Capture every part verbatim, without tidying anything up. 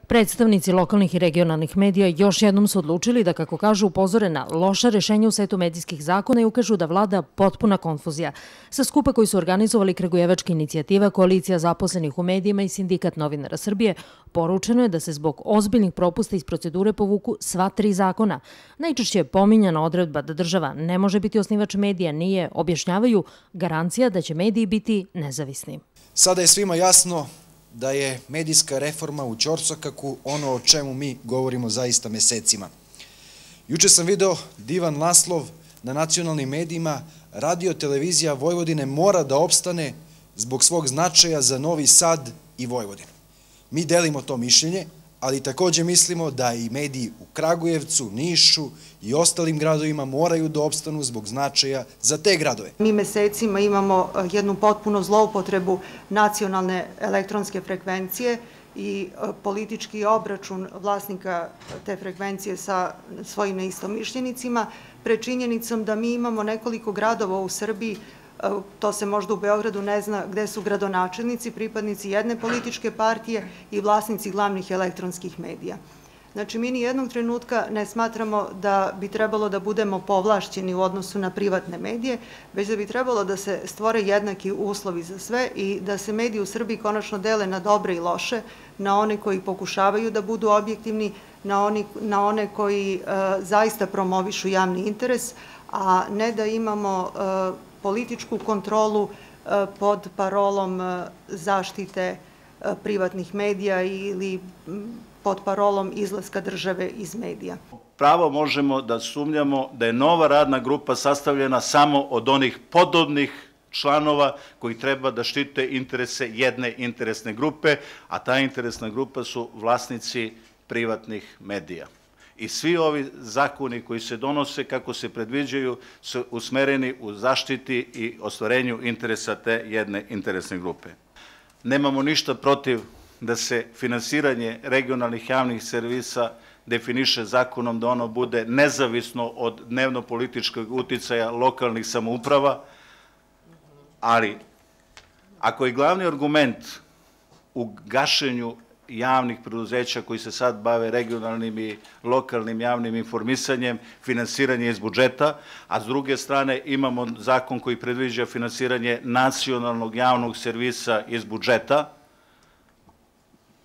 Predstavnici lokalnih i regionalnih medija još jednom su odlučili da, kako kažu, upozore na loša rešenja u setu medijskih zakona i ukažu da vlada potpuna konfuzija. Sa skupa koji su organizovali Kragujevačka inicijativa, Koalicija zaposlenih u medijima i Sindikat novinara Srbije, poručeno je da se zbog ozbiljnih propusta iz procedure povuku sva tri zakona. Najčešće je pominjana odredba da država ne može biti osnivač medija, nije, objašnjavaju, garancija da će mediji biti nezavisni. Sada je svima jasno da je medijska reforma u ćorsokako ono o čemu mi govorimo zaista mesecima. Juče sam video divan naslov na nacionalnim medijima: Radio televizija Vojvodine mora da opstane zbog svog značaja za Novi Sad i Vojvodinu. Mi delimo to mišljenje, ali također mislimo da i mediji u Kragujevcu, Nišu i ostalim gradovima moraju da opstanu zbog značaja za te gradove. Mi mesecima imamo jednu potpuno zloupotrebu nacionalne elektronske frekvencije i politički obračun vlasnika te frekvencije sa svojim neistomišljenicima, pred činjenicom da mi imamo nekoliko gradova u Srbiji, to se možda u Beogradu ne zna, gde su gradonačelnici, pripadnici jedne političke partije i vlasnici glavnih elektronskih medija. Znači, mi ni jednog trenutka ne smatramo da bi trebalo da budemo povlašćeni u odnosu na privatne medije, već da bi trebalo da se stvore jednaki uslovi za sve i da se mediji u Srbiji konačno dele na dobre i loše, na one koji pokušavaju da budu objektivni, na one koji zaista promovišu javni interes, a ne da imamo političku kontrolu pod parolom zaštite privatnih medija ili pod parolom izlaska države iz medija. Pravo možemo da sumnjamo da je nova radna grupa sastavljena samo od onih podobnih članova koji treba da štite interese jedne interesne grupe, a ta interesna grupa su vlasnici privatnih medija. I svi ovi zakoni koji se donose, kako se predviđaju, su usmereni u zaštiti i ostvarenju interesa te jedne interesne grupe. Nemamo ništa protiv da se finansiranje regionalnih javnih servisa definiše zakonom, da ono bude nezavisno od dnevno-političkog uticaja lokalnih samouprava, ali ako je glavni argument u gašenju javnih preduzeća koji se sad bave regionalnim i lokalnim javnim informisanjem, finansiranje iz budžeta, a s druge strane imamo zakon koji predviđa finansiranje nacionalnog javnog servisa iz budžeta,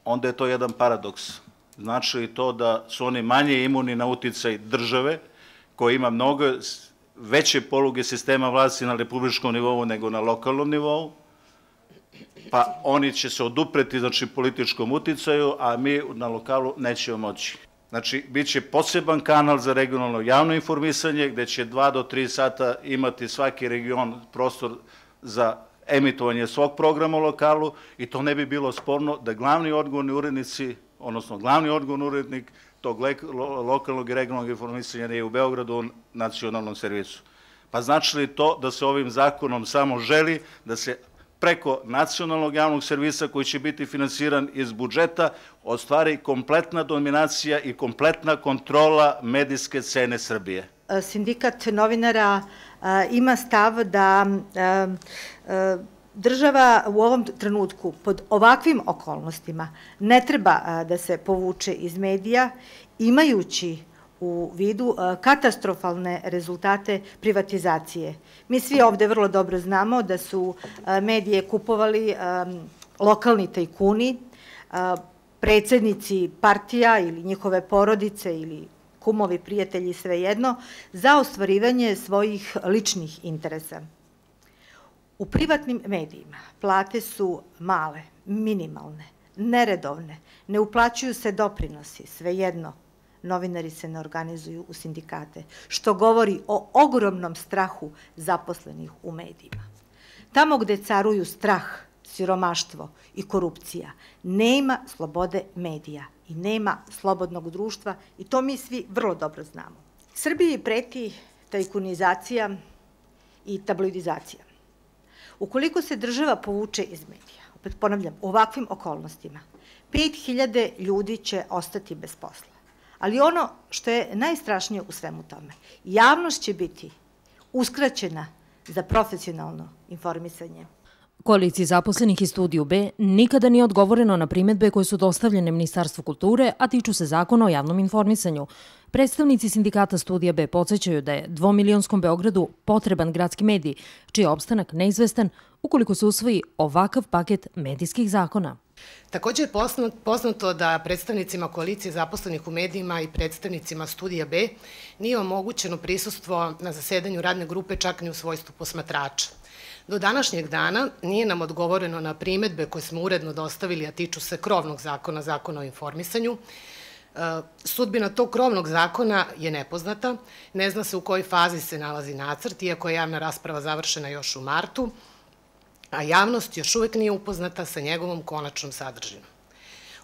onda je to jedan paradoks. Znači li to da su oni manje imuni na uticaj države, koja ima mnogo veće poluge sistema vlasti na republičkom nivou nego na lokalnom nivou, pa oni će se odupreti, znači, političkom uticaju, a mi na lokalu nećemo moći. Znači, bit će poseban kanal za regionalno javno informisanje, gde će dva do tri sata imati svaki region prostor za emitovanje svog programa u lokalu i to ne bi bilo sporno da glavni odgovorni urednici, odnosno glavni odgovorni urednik tog lokalnog i regionalnog informisanja nije u Beogradu u nacionalnom servisu. Pa znači li to da se ovim zakonom samo želi da se preko nacionalnog javnog servisa koji će biti finansiran iz budžeta ostvari kompletna dominacija i kompletna kontrola medijske scene Srbije? Sindikat novinara ima stav da država u ovom trenutku pod ovakvim okolnostima ne treba da se povuče iz medija, imajući u vidu katastrofalne rezultate privatizacije. Mi svi ovde vrlo dobro znamo da su medije kupovali lokalni tajkuni, predsednici partija ili njihove porodice ili kumovi, prijatelji, svejedno, za ostvarivanje svojih ličnih interesa. U privatnim medijima plate su male, minimalne, neredovne, ne uplaćuju se doprinosi, svejedno. Novinari se ne organizuju u sindikate, što govori o ogromnom strahu zaposlenih u medijima. Tamo gde caruju strah, siromaštvo i korupcija, nema slobode medija i nema slobodnog društva i to mi svi vrlo dobro znamo. Srbiji preti tajkunizacija i tabloidizacija. Ukoliko se država povuče iz medija, opet ponavljam, u ovakvim okolnostima, pet hiljada ljudi će ostati bez posla. Ali ono što je najstrašnije u svemu tome, javnost će biti uskraćena za profesionalno informisanje. Koaliciji zaposlenih i Studiju B nikada nije odgovoreno na primedbe koje su dostavljene Ministarstvu kulture, a tiču se zakona o javnom informisanju. Predstavnici sindikata Studija B podsjećaju da je dvomilionskom Beogradu potreban gradski medij, čiji je opstanak neizvestan ukoliko se usvoji ovakav paket medijskih zakona. Također je poznato da predstavnicima koalicije zaposlenih u medijima i predstavnicima Studija B nije omogućeno prisustvo na zasedanju radne grupe čak ni u svojstvu posmatrača. Do današnjeg dana nije nam odgovoreno na primedbe koje smo uredno dostavili, a tiču se krovnog zakona, zakona o informisanju. Sudbina tog krovnog zakona je nepoznata, ne zna se u kojoj fazi se nalazi nacrt, iako je javna rasprava završena još u martu, a javnost još uvek nije upoznata sa njegovom konačnom sadržinom.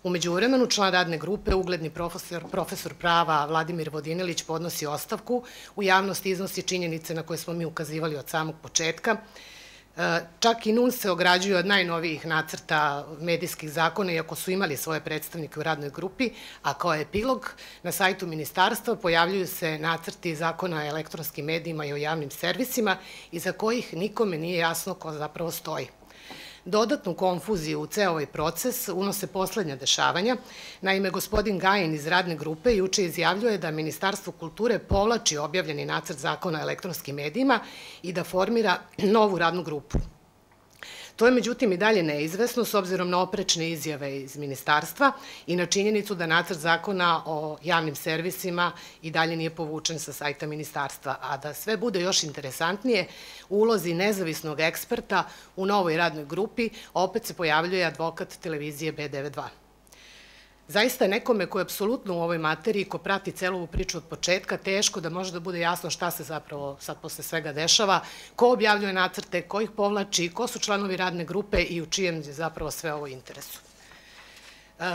U međuvremenu član radne grupe, ugledni profesor, profesor prava Vladimir Vodinelić podnosi ostavku, u javnosti iznosi činjenice na koje smo mi ukazivali od samog početka. Čak i N U N se ograđuje od najnovijih nacrta medijskih zakona, iako su imali svoje predstavnike u radnoj grupi, a kao epilog na sajtu ministarstva pojavljuju se nacrti zakona o elektronskim medijima i o javnim servisima, iza kojih nikome nije jasno ko zapravo stoji. Dodatnu konfuziju u ceo ovaj proces unose poslednja dešavanja. Naime, gospodin Gajin iz radne grupe juče izjavljuje da Ministarstvo kulture povlači objavljeni nacrt zakona o elektronskim medijima i da formira novu radnu grupu. To je međutim i dalje neizvesno s obzirom na oprečne izjave iz ministarstva i na činjenicu da nacrt zakona o javnim servisima i dalje nije povučen sa sajta ministarstva. A da sve bude još interesantnije, u ulozi nezavisnog eksperta u novoj radnoj grupi opet se pojavljuje advokat televizije B devedeset dva. Zaista je nekome ko je apsolutno u ovoj materiji, ko prati celu ovu priču od početka, teško da može da bude jasno šta se zapravo sad posle svega dešava, ko objavljuje nacrte, ko ih povlači, ko su članovi radne grupe i u čijem je zapravo sve ovo interesu.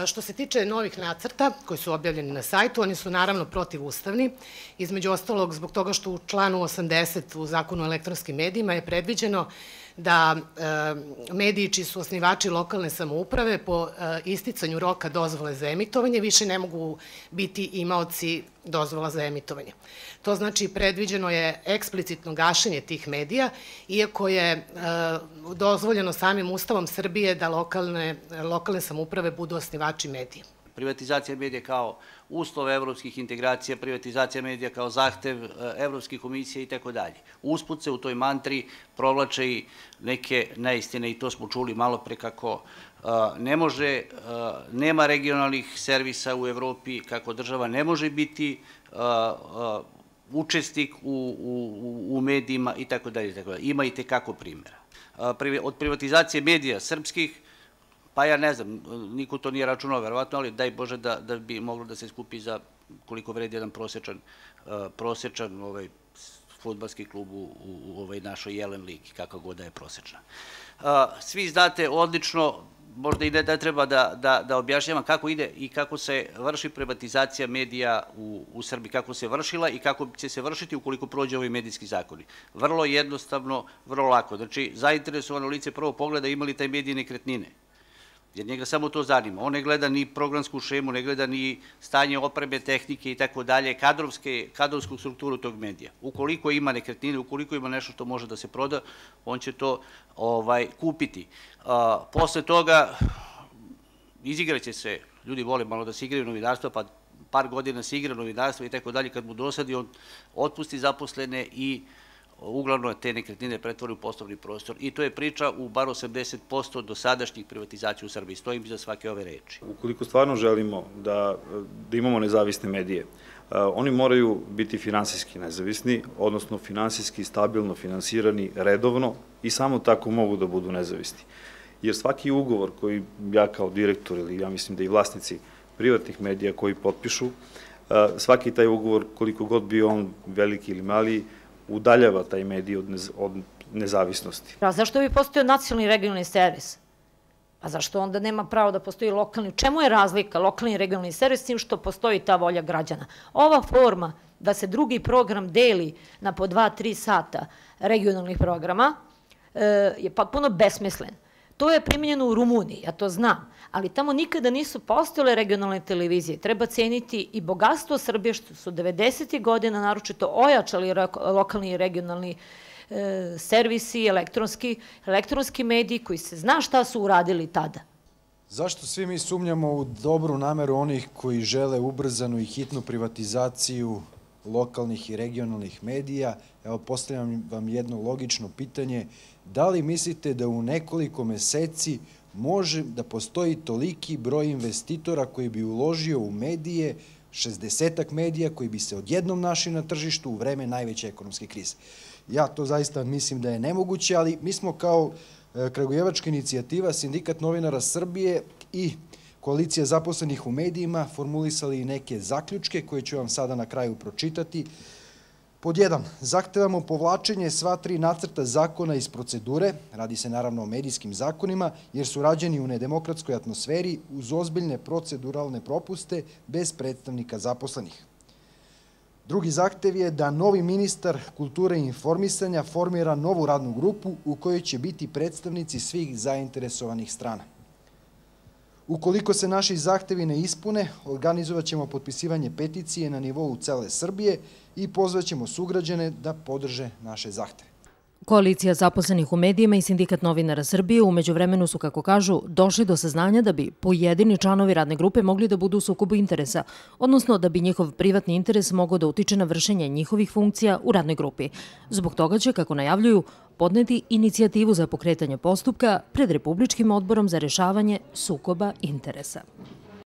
Što se tiče novih nacrta koji su objavljeni na sajtu, oni su naravno protivustavni, između ostalog zbog toga što u članu osamdeset u zakonu o elektronskim medijima je predviđeno da mediji čiji su osnivači lokalne samouprave po isticanju roka dozvole za emitovanje više ne mogu biti imaoci dozvola za emitovanje. To znači predviđeno je eksplicitno gašenje tih medija, iako je dozvoljeno samim Ustavom Srbije da lokalne samouprave budu osnivači medija. Privatizacija medija kao uslov evropskih integracija, privatizacija medija kao zahtev Evropskih komisija i tako dalje. Usput se u toj mantri provlače i neke neistine i to smo čuli malo pre kako ne može, nema regionalnih servisa u Evropi, kako država ne može biti učesnik u medijima i tako dalje. Ima i tekako primjera. Od privatizacije medija srpskih, pa ja ne znam, niko to nije računao verovatno, ali daj Bože da bi moglo da se skupi za koliko vredi jedan prosečan prosečan fudbalski klub u ovoj našoj Jelen ligi, kako god da je prosečna. Svi znate odlično, možda i ne treba da objašnjavam kako ide i kako se vrši privatizacija medija u Srbiji, kako se vršila i kako će se vršiti ukoliko prođe ovi medijski zakoni. Vrlo jednostavno, vrlo lako. Znači, zainteresovano lice prvo pogleda ima li taj medij nekretnine, jer njega samo to zanima. On ne gleda ni programsku šemu, ne gleda ni stanje opreme, tehnike i tako dalje, kadrovsku strukturu tog medija. Ukoliko ima nekretnine, ukoliko ima nešto što može da se proda, on će to kupiti. Posle toga izigraće se, ljudi vole malo da se igraju novinarstva, pa par godina se igra novinarstva i tako dalje, kad mu dosadi, on otpusti zaposlene i uglavnom te nekretnine pretvori u poslovni prostor i to je priča u bar osamdeset posto dosadašnjih privatizacija u Srbiji. Stojim iza svake ove reči. Ukoliko stvarno želimo da imamo nezavisne medije, oni moraju biti finansijski nezavisni, odnosno finansijski stabilno finansirani redovno i samo tako mogu da budu nezavisni. Jer svaki ugovor koji ja kao direktor ili ja mislim da i vlasnici privatnih medija koji potpišu, svaki taj ugovor, koliko god bio on veliki ili mali, udaljava taj medij od nezavisnosti. A zašto bi postojao nacionalni i regionalni servis? A zašto onda nema pravo da postoji lokalni? U čemu je razlika lokalni i regionalni servis s tim što postoji ta volja građana? Ova forma da se drugi program deli na po dva, tri sata regionalnih programa je potpuno besmislen. To je primjenjeno u Rumuniji, ja to znam, ali tamo nikada nisu postojale regionalne televizije. Treba ceniti i bogatstvo Srbije što su devedesetih godina naročito ojačali lokalni i regionalni servisi, elektronski, elektronski mediji koji se zna šta su uradili tada. Zašto svi mi sumnjamo u dobru nameru onih koji žele ubrzanu i hitnu privatizaciju lokalnih i regionalnih medija? Evo, postavljam vam jedno logično pitanje. Da li mislite da u nekoliko meseci može da postoji toliki broj investitora koji bi uložio u medije, šezdesetak medija koji bi se odjednom našli na tržištu u vreme najveće ekonomske krize? Ja to zaista mislim da je nemoguće, ali mi smo kao Kragujevačka inicijativa, Sindikat novinara Srbije i Koalicija zaposlenih u medijima formulisali neke zaključke koje ću vam sada na kraju pročitati. Pod jedan, zahtevamo povlačenje sva tri nacrta zakona iz procedure, radi se naravno o medijskim zakonima, jer su rađeni u nedemokratskoj atmosferi uz ozbiljne proceduralne propuste bez predstavnika zaposlenih. Drugi zahtev je da novi ministar kulture i informisanja formira novu radnu grupu u kojoj će biti predstavnici svih zainteresovanih strana. Ukoliko se naši zahtevi ne ispune, organizovat ćemo potpisivanje peticije na nivou cele Srbije i pozvaćemo sugrađane da podrže naše zahteve. Koalicija zaposlenih u medijima i Sindikat novinara Srbije umeđu vremenu su, kako kažu, došli do saznanja da bi pojedini članovi radne grupe mogli da budu u sukobu interesa, odnosno da bi njihov privatni interes mogao da utiče na vršenje njihovih funkcija u radnoj grupi. Zbog toga će, kako najavljuju, podneti inicijativu za pokretanje postupka pred Republičkim odborom za rešavanje sukoba interesa.